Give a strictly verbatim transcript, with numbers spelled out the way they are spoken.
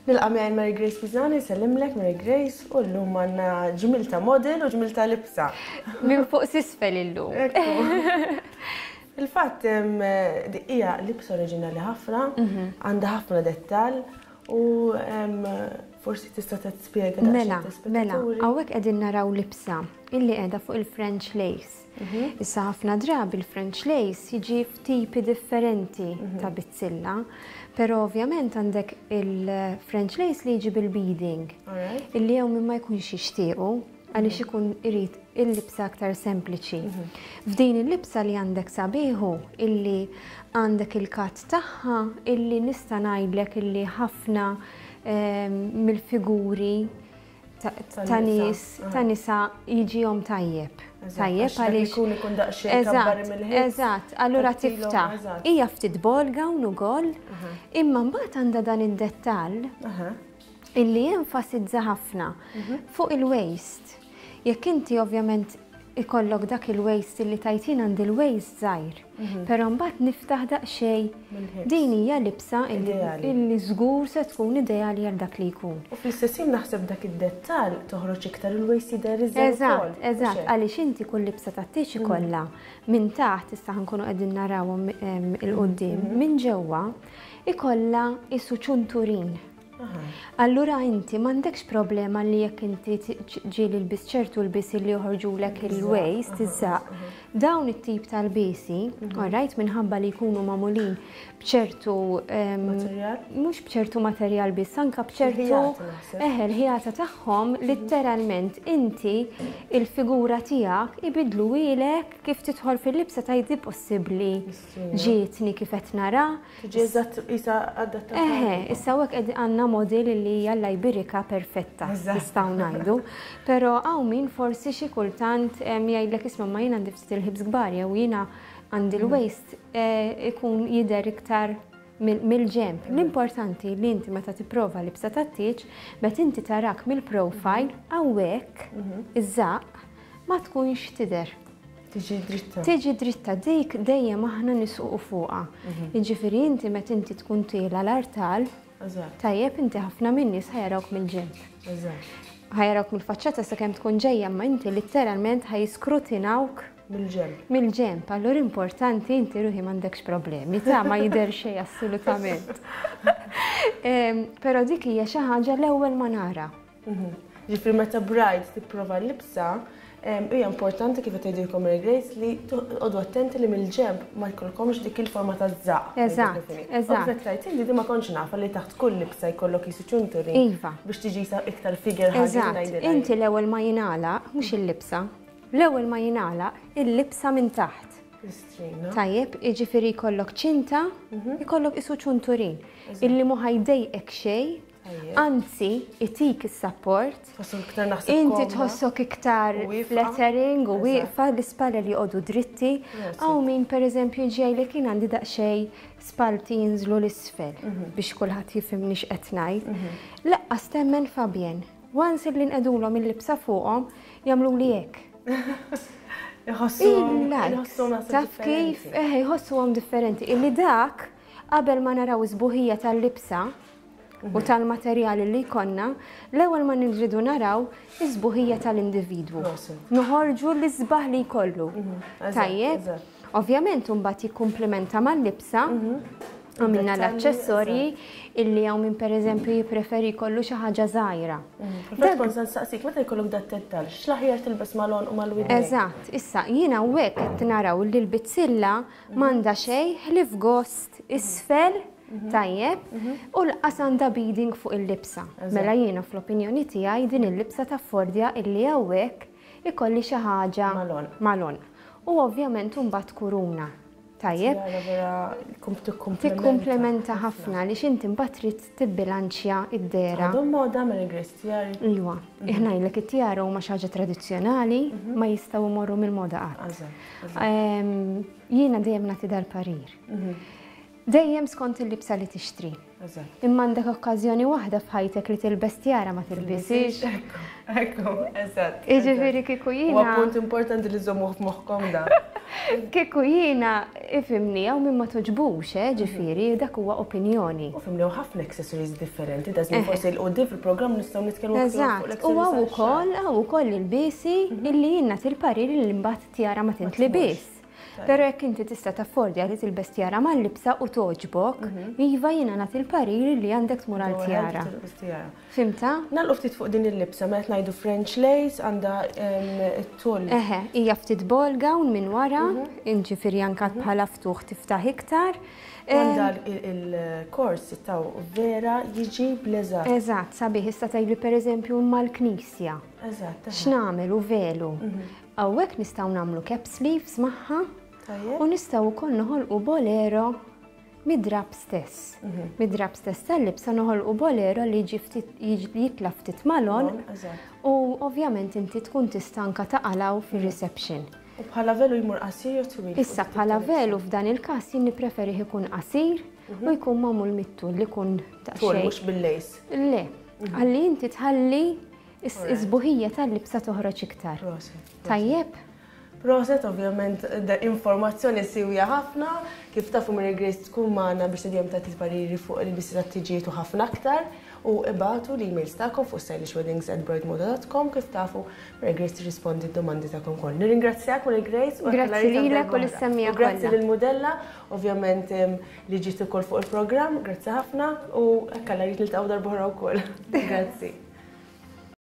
Nilqa' miegħi Mary Grace Pisani, sellimlek Mary Grace, u llum għandna ġmil ta' model u ġmil ta' libsa. Minn fuq s'isfel illum. Il-fatt hija libsa oriġinali ħafna, mhm. għandha ħafna dettal u forsi tista' tispjega. Mela, mela, hawnhekk qegħdin naraw libsa illi qiegħda fuq il-French lace. Mhm. Issa ħafna drabi il-French lace jiġi f'tipi differenti mhm. ta' bizzilla, però ovvjament għandek il-French lace li jiġi bil-beading, illi hawn min ma jkunx jixtiequ għaliex mhm. ikun irid il-libsa aktar sempliċi. F'din il-libsa li għandek sabiħu illi għandek il-cut tagħha illi nista' ngħidlek illi ħafna ehm, mill-figuri ta' nies ta' nisa jiġihom tajjeb. Tajjeb għaliex ikun ikun daqsxejn kabbar mill-ħin. Eżatt, allura tiftaħ. Hija ftit ball gown ukoll, imma mbagħad għandha dan id-dettall illi jenfasizza ħafna mhm. fuq il-waist. Jekk inti ovvjament ikollok dak il-waist illi tajtin għand il-waist żgħir, mhm. però mbagħad niftaħ daqsxejn, din hija libsa illi żgur se tkun ideali għal dak li jkun. U fl-istess ħin naħseb dak id-dettall toħroġ iktar il-waist jidher iżgħar. Eżatt, eżatt, għaliex inti kull libsa tat-tieġ mhm. ikollha minn taħt, issa ħankunu qegħdin narawhom il-quddiem, mhm. minn ġewwa ikollha isu ċunturin. Allura inti m'għandekx problema li jekk inti ġieli lbis ċertu lbis li joħorġulek il-waist, iż-żaq. Dawn it-tip tal-bisi, mhm. alright, minħabba li jkunu magħmulin bċertu materjal, mhux bċertu materjal biss, anka bċertu eħe l-ħjata tagħhom, mhm. litteralment inti il-figura tiegħek ibidlu ilek kif tidħol fil-libsa tgħidi possibbli ġietni kif qed nara. Tiġi eżatt isa adattata. Eħe, issa hawnhekk qed għandna model li jalla jbirika perfetta, nistgħu ngħidu. Però hawn min forsi xi kultant jgħidlek, "Isma', ma jien għandi ftit il-hips kbar jew jiena għandi l-waist eh, ikun jidher iktar mill-ġemp." L-importanti li inti meta tipprova libsa tat-tieġ, meta inti tarak mill-profile hawnhekk iż-żaq ma tkunx tidher. Tiġi dritta. Tiġi dritta, dik dejjem aħna nisqu fuqha. Mhm. Jiġifieri inti meta inti tkun tiela l-artal, tajjeb, inti ħafna min-nies ħa jarawk mill-ġemp. Ħa jarawk mill-faċċata sakemm tkun ġejja, ma inti literalment ħa jiskrutinawk mill-ġemp. Mill-ġemp, allura importanti inti ruħi m'għandekx problemi, ta' ma jidher xejn assolutament. Però dik hija xi ħaġa l-ewwel ma nara. Mhm. Ġifieri meta bride tipprova l-libsa, hija importanti kif qed tgħidilkom Mary Grace li toqgħodu attenti li mill-ġemp ma jkollkomx dik il-forma ta' żaq. Eżatt, eżatt. Qed tgħid inti di ma kontx nafa li taħt kull libsa jkollok jisu ċunturi. Iva. Biex tiġi iktar figure. Eżatt. Inti l-ewwel ma jingħalaq, mhux il-libsa, l-ewwel ma jingħalaq il-libsa minn taħt. Tajjeb, jiġifieri jkollok ċinta, mhm. jkollok isu ċunturin, illi mu ħa jdejqek xejn, anzi, itik is-support. Inti tħossok iktar flattering u wieqfa, l-ispalla li joqogħdu dritti. Hawn min per eżempju ġej li kien għandi daqsxejn spalti jinżlu l-isfel mhm. biex kulħadd jifhimni x'qed ngħid. Mhm. Lanqas temmen, Fabien. Once li nqegħdulhom il-libsa fuqhom jagħmlu li hekk. Taf kif? Eh, jħossuhom differenti. Illi dak qabel ma naraw is-sbuħija tal-libsa u tal-materjali li jkollna, l-ewwel ma nirridu naraw is-sbuħija tal-individwu. Noħorġu l-isbaħ li jkollu. Mhm. Tajjeb, ovvjament mbagħad jikkumplementa mal-libsa. Mhm. Għamilna l-aċċessorji illi hawn min per eżempju jippreferi jkollu xi ħaġa żgħira. Mhm. Kont se nsaqsik, meta jkollok dat dettal, x'l-aħjar tilbes mal-għonq u mal-widnejn? Eżatt, issa jiena hawnhekk qed naraw li l-bizzilla m'għandha xejn ħlief gost isfel, tajjeb, u lanqas għandha beading fuq il-libsa. Mela jiena fl-opinjoni tiegħi din il-libsa taffordja illi hawnhekk ikolli xi ħaġa mal-għonq. U ovvjament mbagħad kuruna. Tajjeb. Tikkumplementa ħafna li xinti mbagħad trid tibbilanċja id-dehra. Għadhom moda, Mary Grace, tiari? Iwa, ngħidlek, it-tiara huma xi ħaġa tradizzjonali, ma jistgħu imorru mill-moda qatt. Jiena dejjem nagħti dal-parir. Dejjem skont il-libsa li tixtri. Imma għandek okkażjoni waħda f'ħajtek li tilbes tiara, ma tilbisix. Ekku, ekku, eżatt. Jiġifieri kieku jiena. Huwa punt importanti li żommuh f'moħħkom da. Kieku jiena, ifhimni, hawn min ma togħġbux, eh, ġifieri, dak huwa opinjoni. U fhimni, ħafna accessories differenti, da żmien forsi 'l quddiem fil-programm nistgħu nitkellmu aktar fuq. U hawn ukoll, hawn ukoll il-bisi illi jiena til-parir li mbagħad tiara ma tintlibis. Però jekk inti tista' taffordja li tilbes tiara mal-libsa u togħġbok, iva, jiena nagħti l-parir li għandek tmur għal tiara. Fhimtha? Nagħlqu ftit fuq din il-libsa, meta ngħidu French lace, għandha it-tul. Eħe, hija ftit ball gown minn wara, ġifieri anka bħala ftuħ tiftaħ iktar. Għandha il-kors taw vera jiġi bl-eżatt. Eżatt, sabiħ. Issa tgħidli, pereżempju, mal-knisja. Eżatt. X'nagħmel u velu? Hawnhekk nistgħu nagħmlu cap sleeves magħha u nistgħu wkoll noħolqu bolero mid-drap stess. Mid-drap stess tal-libsa noħolqu bolero li jiġi ftit jitla ftit mal-għonq u ovvjament inti tkun tista' anka taqalgħu fir-reception. U bħala velu jmur qasir jew twil? Issa bħala velu f'dan il-każ jien nippreferih ikun qasir u jkun magħmul mit-tul li jkun Tul, mhux bil-lace. Le, għalli inti tħalli is-sbuħija tal-libsa toħroġ iktar. Tajjeb? Proset, ovvjament, informazzjoni siwja ħafna, kif tafu, Mary Grace tkun magħna biex tidjem tagħti pariri fuq il-bisi tat-tiġijiet u ħafna aktar, u ibagħtu l-emails tagħkom fuq stylishweddings at bridemoda dot com. Kif tafu, Mary Grace tirrispondi d-domandi tagħkom koll. Nirringrazzjak, Mary Grace. U Grazzi lilek u lis-semmiegħa Grazzi kollha. lill-mudella, ovvjament, li ġiet ukoll fuq il-programm, grazzi ħafna u hekk alla jrid niltaqgħu darb'oħra wkoll. Grazzi.